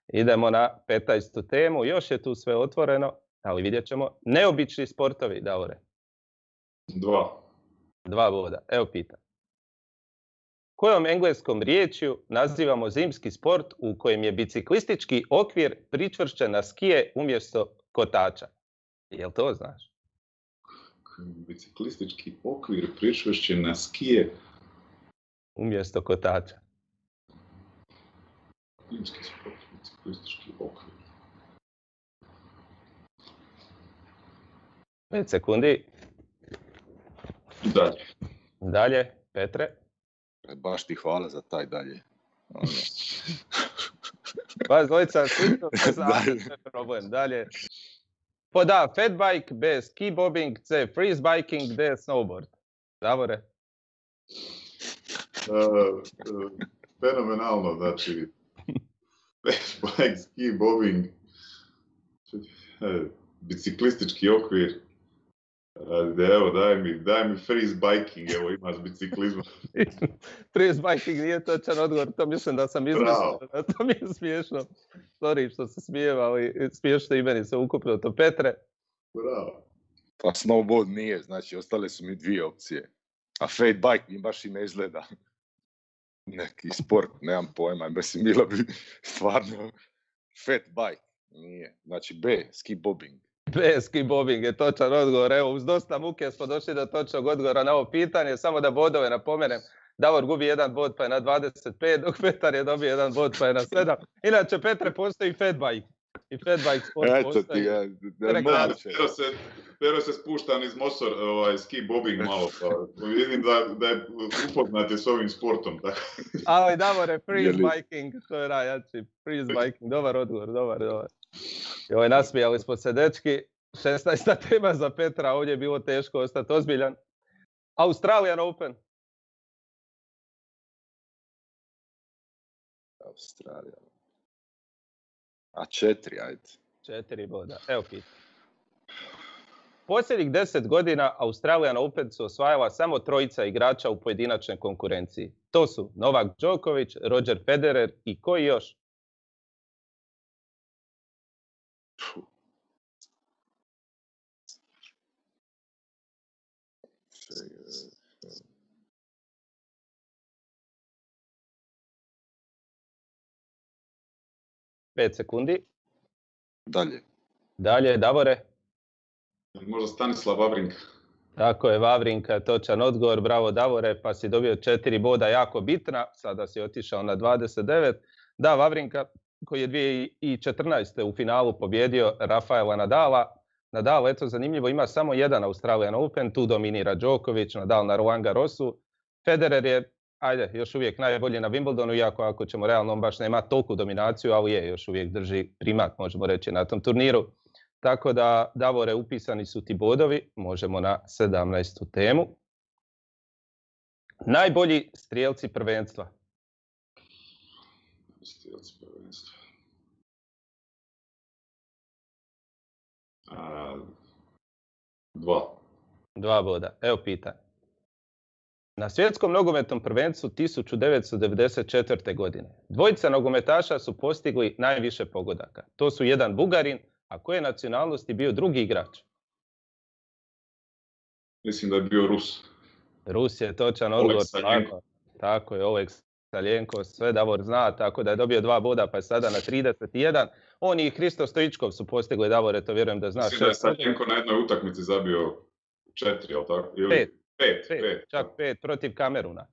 Idemo na 15. temu, još je tu sve otvoreno, ali vidjet ćemo. Neobični sportovi, Davore. 2 boda, evo pitam. Kojom engleskom riječju nazivamo zimski sport u kojem je biciklistički okvir pričvršćen na skije umjesto kotača? Jel to znaš? Biciklistički okvir pričvršćen na skije umjesto kotača. Zimski sport, biciklistički okvir. 5 sekundi. Dalje, Petre. Baš ti hvala za taj dalje. Vas dvojica slično se znate, problem. Dalje. Pod A, fat bike, B, ski bobbing, C, freeze biking, D, snowboard. Davore? Fenomenalno, znači, fat bike, ski bobbing, biciklistički okvir. Evo, daj mi freeze biking, evo ima s biciklizmom. Freeze biking nije točan odgovor, to mislim da sam izmislio, to mi je smiješno. Sorry što se smijem, ali smiješno i meni se ukupno to. Petre? Bravo. Pa snowboard nije, znači ostale su mi 2 opcije. A fat bike mi baš i ne izgleda. Neki sport, nemam pojma, mislim bilo bi stvarno fat bike, nije. Znači B, ski bobbing. B, ski bobbing je točan odgovor. Evo, uz dosta muke smo došli do točnog odgovora na ovo pitanje. Samo da bodove napomenem. Davor gubi 1 bod pa je na 25, dok Petar je dobio 1 bod pa je na 7. Inače, Petre, postoji fat bike. I fat bike sport postoji. Pero se spušta niz Mosor, ski bobbing malo, pa vidim da je upoznat s ovim sportom. Tako. Ali Davore, freeze biking, to je najjači. Freeze biking, dobar odgovor, dobar. Joj, nasmijali smo se, dečki. 16. tema za Petra, ovdje je bilo teško ostati ozbiljan. Australian Open. Australija. A 4, ajde. 4 boda, evo pitam. Posljednjih 10 godina Australian Open su osvajala samo 3 igrača u pojedinačnoj konkurenciji. To su Novak Đoković, Roger Federer i koji još? Pet sekundi. Dalje, Davore. Možda Stanislav Wawrinka. Tako je, Wawrinka, točan odgovor, bravo Davore, pa si dobio 4 boda, jako bitna, sada si otišao na 29. Da, Wawrinka koji je 2014. u finalu pobjedio Rafaela Nadala. Nadal, eto, zanimljivo, ima samo 1 Australian Open, tu dominira Đoković, Nadal na Roland Garrosu. Federer je, još uvijek najbolji na Wimbledonu, iako ako ćemo realno, on baš nema toliku dominaciju, ali još uvijek drži primat, možemo reći, na tom turniru. Tako da, Davore, upisani su ti bodovi, možemo na 17. temu. Najbolji strijelci prvenstva. Strijelci prvenstva. 2 boda. Evo pitanje. Na svjetskom nogometnom prvenstvu 1994. godine 2 nogometaša su postigli najviše pogodaka. To su jedan Bugarin, a koje nacionalnosti bio drugi igrač? Mislim da je bio Rus. Rus je točan odgovor. Tako je, Oleg Saljenko, sve Davor zna, tako da je dobio 2 boda, pa je sada na 31. On i Hristo Stojičkov su postigli, Davore, to vjerujem da znaš. Mislim da je Saljenko na jednoj utakmici zabio 4, jel tako? 5. Čak 5 protiv Kameruna.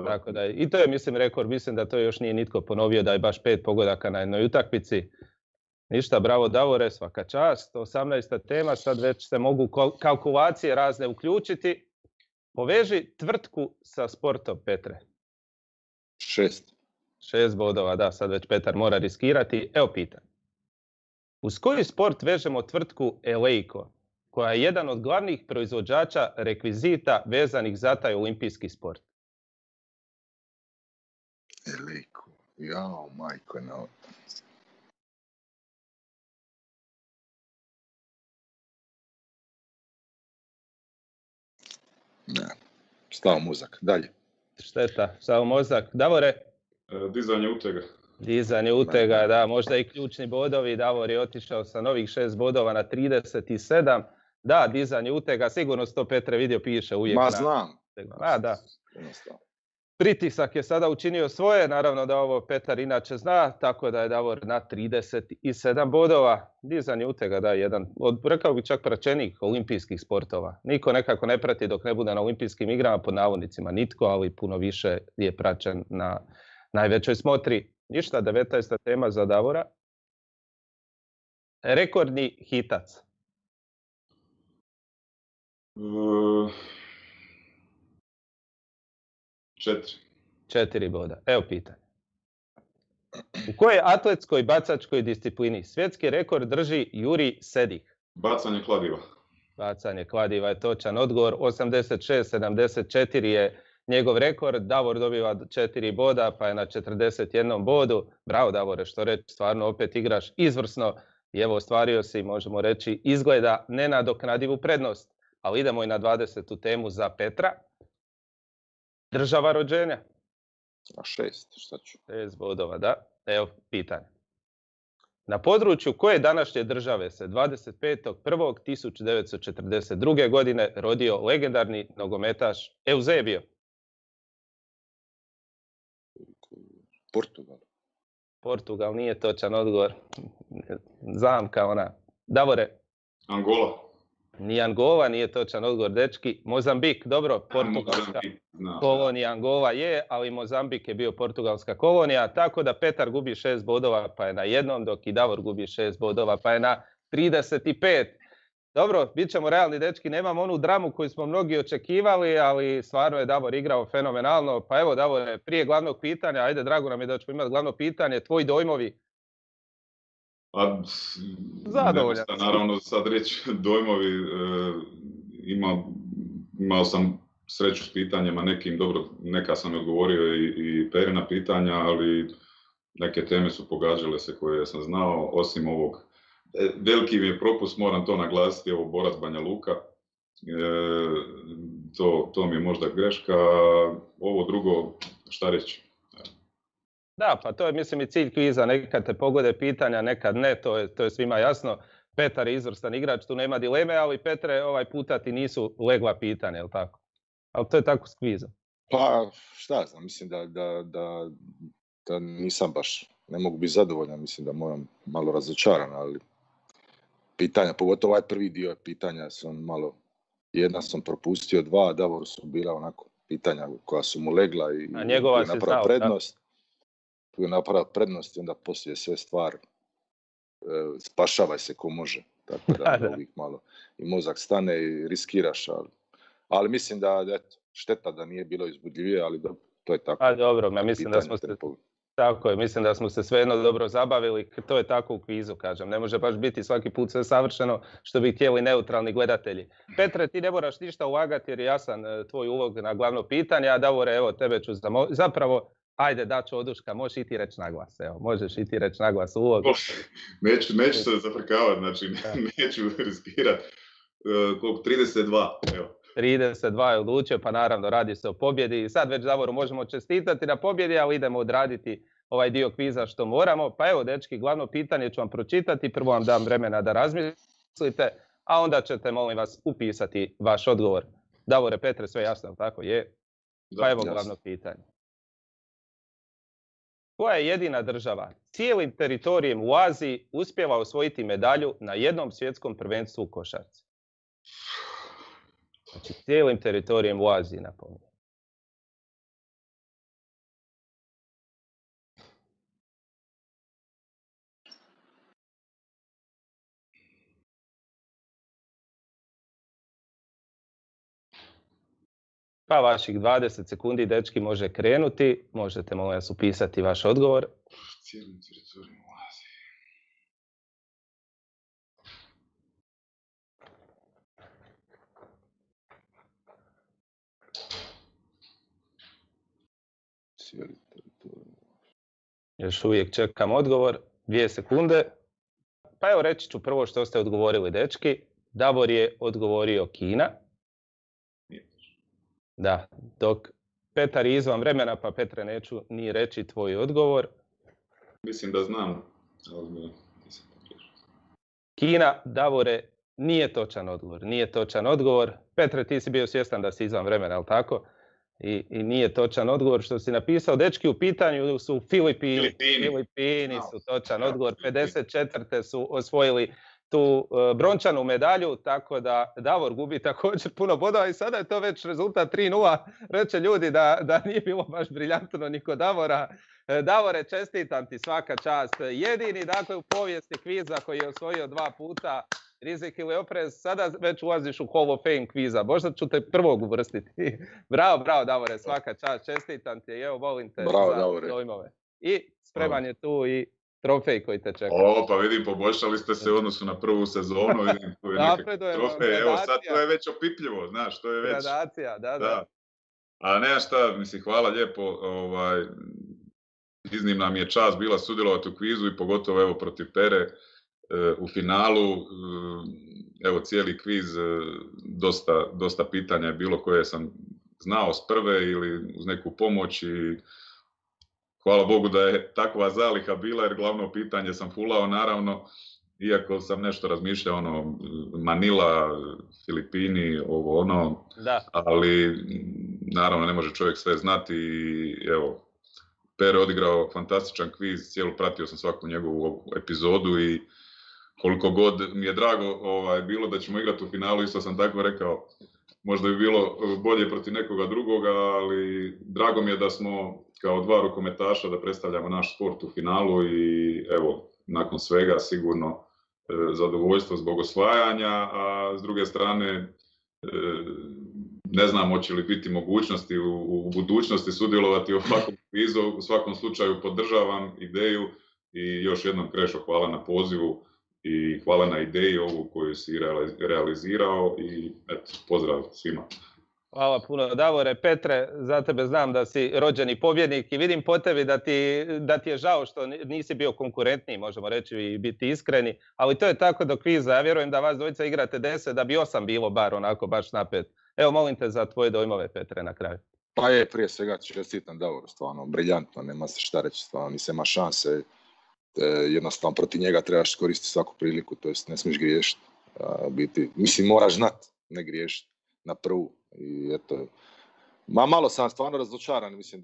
Tako da, i to je, mislim, rekord, mislim da to još nije nitko ponovio da je baš 5 pogodaka na jednoj utakmici. Ništa, bravo Davore, svaka čast. 18. tema, sad već se mogu kalkulacije razne uključiti. Poveži tvrtku sa sportom, Petre. 6. 6 bodova, da, sad već Petar mora riskirati. Evo pitan. Uz koji sport vežemo tvrtku Eleiko, koja je jedan od glavnih proizvođača rekvizita vezanih za taj olimpijski sport? Eleiko, jao, majko, no. Ne, stao mozak, dalje. Šteta, stao mozak. Davore? Dizanje utega. Dizanje utega, da, možda i ključni bodovi. Davor je otišao sa novih 6 bodova na 37. Da, dizanje utega, sigurno to Petre vidio, piše uvijek. Ma znam. Da. Pritisak je sada učinio svoje, naravno da ovo Petar inače zna, tako da je Davor na 37 bodova. Dizanje utega, da, jedan od, rekao bi čak praćenih olimpijskih sportova. Niko nekako ne prati dok ne bude na olimpijskim igrama, pod navodnicima nitko, ali puno više je praćen na najvećoj smotri. Ništa, 19. tema za Davora. Rekordni hitac. 4 boda. Evo pitanje. U kojoj atletskoj bacačkoj disciplini svjetski rekord drži Juri Sedih? Bacanje kladiva. Bacanje kladiva je točan odgovor. 86-74 je njegov rekord. Davor dobiva 4 boda, pa je na 41 bodu. Bravo Davore, što reći, stvarno opet igraš izvrsno. I evo, ostvario si, možemo reći, izgleda nenadoknadivu prednost. Ali idemo i na 20. temu za Petra. Država rođenja. A 6, šta ću? 6 bodova, da. Evo pitanje. Na području koje današnje države se 25.1.1942. godine rodio legendarni nogometaš Eusebio? Portugal. Portugal nije točan odgovor. Zamka ona. Davore? Angola. Ni Angola nije točan odgovor, dečki. Mozambik, dobro, portugalska kolonija Angola je, ali Mozambik je bio portugalska kolonija, tako da Petar gubi 6 bodova pa je na 1, dok i Davor gubi 6 bodova pa je na 35. Dobro, bit ćemo realni, dečki, nemamo onu dramu koju smo mnogi očekivali, ali stvarno je Davor igrao fenomenalno. Pa evo, Davore, prije glavnog pitanja, ajde, drago nam je da ćemo imati glavno pitanje, tvoji dojmovi? Zadovoljan. Naravno, sad reći dojmovi, imao sam sreću s pitanjima nekim, dobro, neka sam odgovorio i Perina pitanja, ali neke teme su pogađale se koje sam znao, osim ovog. Veliki mi je propust, moram to naglasiti, ovo Borac Banja Luka, to mi je možda greška, ovo drugo, šta reći? Da, pa to je, mislim, i cilj kviza, nekad te pogode pitanja, nekad ne, to je svima jasno. Petar je izvrstan igrač, tu nema dileme, ali Petre, ovaj puta ti nisu legla pitanja, jel tako? Ali to je tako s kvizom. Pa, šta znam, mislim da nisam baš, ne mogu biti zadovoljan, mislim da moram malo razočaran, ali pitanja, pogotovo ovaj prvi dio pitanja sam malo, jedna sam propustio, 2, Davoru su bila onako pitanja koja su mu legla i napravila prednost. Tu je napravila prednost i onda poslije sve stvar spašavaj se ko može. Tako da uvijek malo i mozak stane i riskiraš, ali mislim da eto, šteta da nije bilo izbudljivije, ali dobro, to je tako. A dobro, ja mislim da smo se, tako je, mislim da smo se svejedno dobro zabavili, to je tako u kvizu, kažem, ne može baš biti svaki put sve savršeno što bi htjeli neutralni gledatelji. Petre, ti ne moraš ništa ulagati jer je jasan tvoj ulog na glavno pitanje, a Davore, evo, tebe ću zapravo, ajde, daću oduška, možeš i ti reći naglas, evo, možeš i ti reći naglas ulog. Neću se zafrkavati, znači neću riskirati. Koliko? 32, evo. 32 je odlučio, pa naravno radi se o pobjedi. I sad već Davoru možemo čestitati na pobjedi, ali idemo odraditi ovaj dio kviza što moramo. Pa evo, dečki, glavno pitanje ću vam pročitati, prvo vam dam vremena da razmislite, a onda ćete, molim vas, upisati vaš odgovor. Davore, Petre, sve jasno, tako je? Pa evo glavno pitanje. Koja je jedina država cijelim teritorijem u Aziji uspjela osvojiti medalju na jednom svjetskom prvenstvu u košarci? Znači, cijelim teritorijem u Aziji, napominjem. Pa vaših 20 sekundi, dečki, može krenuti. Možete, molim vas, upisati vaš odgovor. Cijelim teritoriju Azije. Cijeli teritorij. Još uvijek čekam odgovor. 2 sekunde. Pa evo reći ću prvo što ste odgovorili, dečki. Davor je odgovorio Kina. Da, dok Petar je izvan vremena, pa Petre neću ni reći tvoj odgovor. Mislim da znam. Kina, Davore, nije točan odgovor. Nije točan odgovor. Petre, ti si bio svjestan da si izvan vremena, ali tako? I nije točan odgovor što si napisao. Dečki, u pitanju su Filipini. Filipini su točan odgovor. 54. su osvojili tu brončanu medalju, tako da Davor gubi također puno bodova i sada je to već rezultat 3:0. Reče ljudi da nije bilo baš briljantno ni kod Davora. Davore, čestitam ti, svaka čast. Jedini, dakle, u povijesti kviza koji je osvojio 2 puta rizik ili oprez, sada već ulaziš u Hall of Fame kviza. Možda ću te prvog uvrstiti. Bravo, Davore, svaka čast, čestitam ti. Evo, volim te za dojmove. I spreman je tu i trofej koji te čeka. Pa vidim, poboljšali ste se u odnosu na prvu sezonu. Vidim, tu je nekakav trofej. Evo, sad to je već opipljivo, znaš, to je već... Gradacija, da. A nema šta, mislim, hvala lijepo. Iznimna mi je čast bila sudjelovati u kvizu i pogotovo evo protiv Pere u finalu. Evo, cijeli kviz, dosta pitanja je bilo koje sam znao s prve ili uz neku pomoć i hvala Bogu da je takva zaliha bila, jer glavno pitanje sam fulao, naravno, iako sam nešto razmišljao, Manila, Filipini, ovo ono, ali naravno ne može čovjek sve znati i evo, Pere odigrao fantastičan kviz, pratio sam svaku njegovu epizodu i koliko god mi je drago bilo da ćemo igrati u finalu, isto sam tako rekao, možda bi bilo bolje protiv nekoga drugoga, ali drago mi je da smo kao 2 rukometaša da predstavljamo naš sport u finalu i evo, nakon svega sigurno zadovoljstvo zbog osvajanja, a s druge strane ne znam hoće li biti mogućnosti u budućnosti sudjelovati u ovakvom kvizu. U svakom slučaju podržavam ideju i još jednom Krešo hvala na pozivu i hvala na ideji ovu koju si realizirao i eto, pozdrav svima. Hvala puno, Davore. Petre, za tebe znam da si rođeni pobjednik i vidim po tebi da ti je žao što nisi bio konkurentniji, možemo reći i biti iskreni, ali to je tako do kviza. Ja vjerujem da vas dvojica igrate 10, da bi 8 bilo bar onako baš napet. Evo, molim te za tvoje dojmove, Petre, na kraju. Pa je, prije svega čestitam Davoru, stvarno, briljantno, nema se šta reći, stvarno, nisam ima šanse. Jednostavno protiv njega trebaš koristiti svaku priliku, to jest ne smiješ griješiti. Mislim, moraš znat, ne griješiti na prvu. I eto, malo sam stvarno razočaran, mislim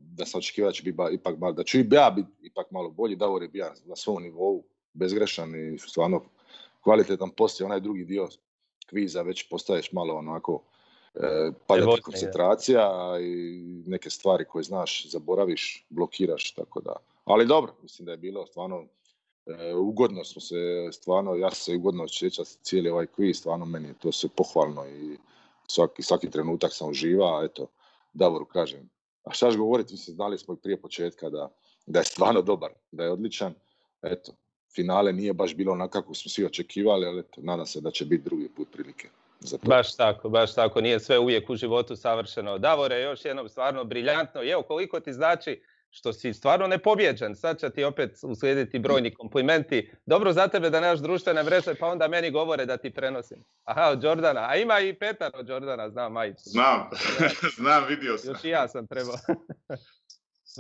da sam očekivao da će biti ipak malo, da ću i ja biti ipak malo bolji. Davor je bio na svom nivou, bezgrešan i stvarno kvalitetan poslije. Onaj drugi dio kviza već postaješ malo onako padati koncentracija i neke stvari koje znaš zaboraviš, blokiraš, tako da. Ali dobro, mislim da je bilo stvarno ugodno smo se, stvarno, ja se ugodno osjećam cijeli ovaj kviz, stvarno meni je to sve pohvalno i svaki trenutak sam uživao, eto, Davoru kažem. A šta ću govoriti, mislim, znali smo i prije početka da je stvarno dobar, da je odličan, eto, finale nije baš bilo onako kako smo svi očekivali, ali eto, nadam se da će biti drugi put prilike. Baš tako, nije sve uvijek u životu savršeno. Davore, još jednom stvarno briljantno, evo koliko ti znači što si stvarno nepobjeđen. Sad će ti opet uslijediti brojni komplimenti. Dobro za tebe da nemaš društvene mreže, pa onda meni govore da ti prenosim. Aha, od Jordana. A ima i Petar od Jordana, znam majicu. Znam, vidio sam. Još i ja sam trebao.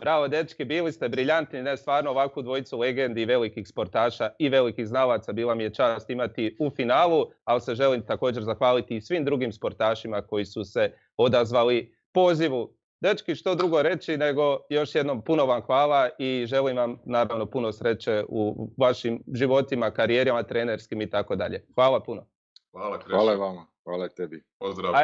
Bravo, dečki, bili ste briljantni, ne stvarno ovakvu dvojicu legendi, velikih sportaša i velikih znalaca. Bila mi je čast imati u finalu, ali se želim također zahvaliti i svim drugim sportašima koji su se odazvali pozivu. Dečki, što drugo reći nego još jednom puno vam hvala i želim vam naravno puno sreće u vašim životima, karijerama, trenerskim i tako dalje. Hvala puno. Hvala vama, hvala tebi. Pozdrav.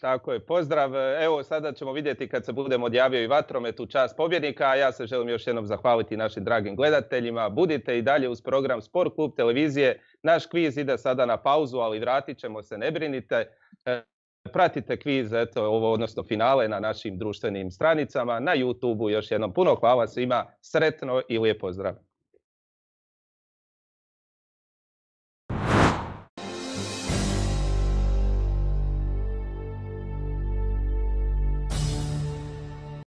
Tako je, pozdrav. Evo, sada ćemo vidjeti kad se budem odjavio i vatromet u čast pobjednika, a ja se želim još jednom zahvaliti našim dragim gledateljima. Budite i dalje uz program Sport Klub televizije. Naš kviz ide sada na pauzu, ali vratit ćemo se, ne brinite. Pratite kviz, eto, odnosno finale na našim društvenim stranicama, na YouTubeu. Još jednom puno hvala svima, sretno i lijep pozdrav.